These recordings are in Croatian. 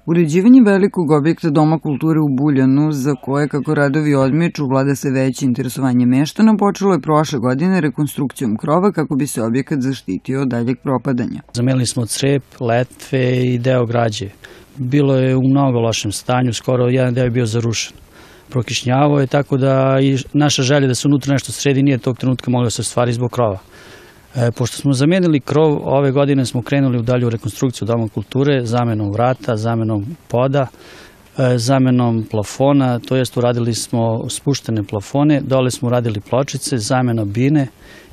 Uređivanje velikog objekta Doma kulture u Buljanu, za koje, kako radovi odmiču, vlada se veće interesovanje meštana, počelo je prošle godine rekonstrukcijom krova kako bi se objekat zaštitio od daljeg propadanja. Zamenili smo crep, letve i deo građe. Bilo je u mnogo lošem stanju, skoro jedan deo je bio zarušen. Prokišnjavao je, tako da i naša želja da se unutra nešto sredi nije tog trenutka mogla se ostvariti zbog krova. Pošto smo zamenili krov, ove godine smo krenuli u dalju rekonstrukciju Doma kulture, zamenom vrata, zamenom poda, zamenom plafona, to jest uradili smo spuštene plafone, dole smo uradili pločice, zamena bine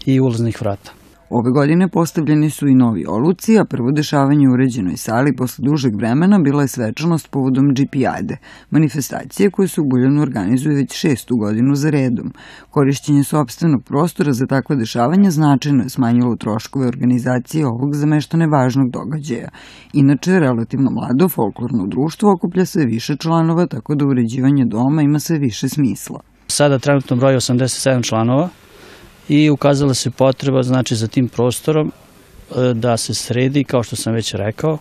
i ulaznih vrata. Ove godine postavljeni su i novi oluci, a prvo dešavanje u uređenoj sali posle dužeg vremena bila je svečanost povodom Džipijade, manifestacije koje se u Buljanu organizuje već 6. godinu za redom. Korišćenje sopstvenog prostora za takva dešavanja značajno je smanjilo troškove organizacije ovog za meštane važnog događaja. Inače, relativno mlado folklorno društvo okuplja sve više članova, tako da uređivanje doma ima sve više smisla. Sada trenutno broji 87 članova. I ukazala se potreba, znači, za tim prostorom da se sredi, kao što sam već rekao,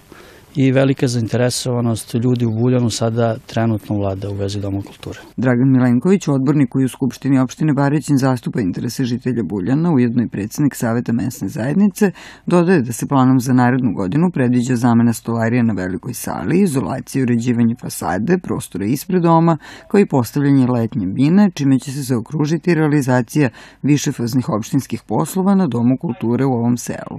i velika zainteresovanost ljudi u Buljanu sada trenutno vlada u vezi Doma kulture. Dragan Milenković, odbornik koji u Skupštini opštine Baričin zastupa interese žitelja Buljana, ujedno i predsednik Saveta mesne zajednice, dodaje da se planom za narednu godinu predviđa zamena stolarija na velikoj sali, izolacija i uređivanje fasade, prostora ispred doma, kao i postavljanje letnje bine, čime će se zaokružiti realizacija višefaznih opštinskih poslova na Domu kulture u ovom selu.